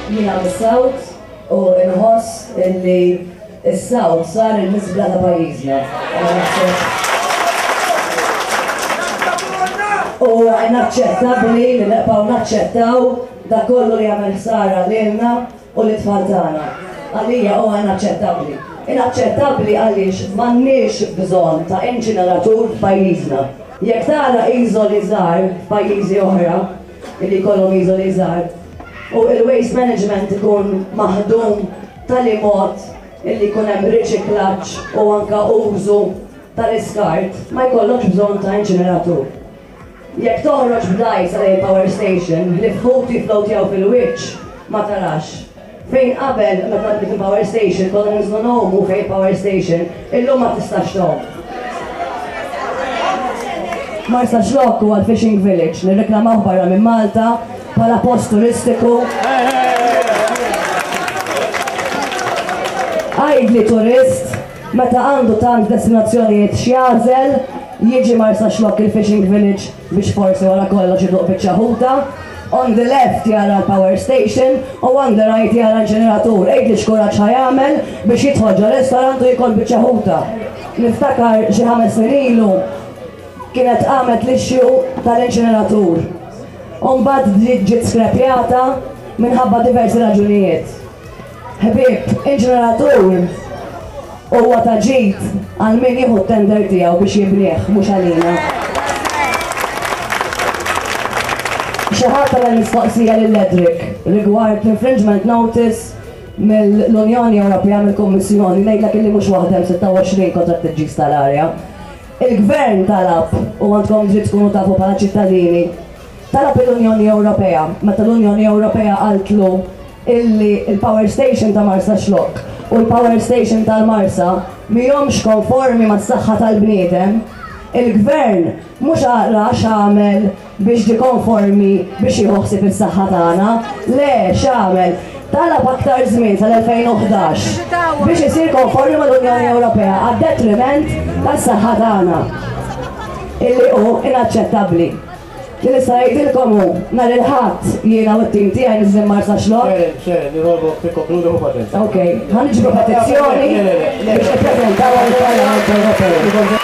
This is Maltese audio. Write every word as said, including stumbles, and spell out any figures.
Jiena mis-South u nħoss illi s-South sar il-miżbla ta' pajjiżna. U inaċċettabbli li nibqgħu naċċettaw dak kollu li jagħmel ħsara lilna u lit-tfal tagħna. Għalija huwa inaċċettabbli. Inaċċettabbli għaliex m'għandniex bżonn ta' inċineratur f'pajjiżna. Jekk tara iżoli żgħar f'pajjiżi oħra, illi jkollhom iżoli żgħar, u il-waste management ikun maħdum tali mod illi jkun hemm riċiklaġġ u anka użu tal-iskart, ma jkollokx bżonn ta' inċineratur. Jekk toħroġ b'dgħajsa lejn power station, li fħut jiflowtjaw fil-wiċċ, ma tarax. Fejn qabel meta bdiet il-power station konna ninżlu ngħumu fejn power station, illum ma tistax tgħum. Marsaxlokk huwa l-fishing village, nirreklamaw barra minn Malta bħala post turistiku. Għidli turist meta għandu tant destinazzjonijiet x'jagħżel, jiġi Marsaxlokk il-fishing village biex forsi wara kollox iduq biċċa ħuta. On the left jara l-power station u on the right jara l-ġeneratur. Għidli x'kuraġġ ħa jagħmel biex jidħol ġo restaurant u jiekol biċċa ħuta. Niftakar xi ħames snin ilu kienet qamet l-issue tal-inċineratur. U mbagħad ġiet skrepjata minħabba diversi raġunijiet. Ħbieb, inċineratur huwa ta' ġid għal min jieħu t-tender tiegħu biex jibnieh, mhux għalina. Xi ħadd għamel mistoqsija lil Edric rigward l-infringement notice mill-Unjoni Ewropea mill-Kummissjoni, ngħidlek illi mhux waħda hemm sitta u għoxrin kontra t-tiġġis tal-arja. Il-Gvern talab, u għandkom dritt tkunu tafu bħala ċittadini, talab l-Unjoni Ewropea, meta l-Unjoni Ewropea qaltlu illi il-power station ta' Marsaxlokk u l-power station tal-Marsa mihomx konformi mas-saħħa tal-bniedem, il-Gvern mhux għara x'għamel biex ġie konformi biex jieħu ħsieb is-saħħa tagħna, le x'għamel, talab aktar żmien sal-elfejn u ħdax biex isir konformi mal-Unjoni Ewropea għad-detriment tas-saħħa tagħna, illi hu inaċċettabbli. Li nista' ngħidilkom hu nhar il-Ħadd jiena u t-tim tiegħi niżlin Marsaxlokk. Sharon, Sharon, nirolbok tikkonkludi u paċenzja. Ok, ħa niġbru petizzjoni biex nippreżentaw għall-Parlament Ewropew.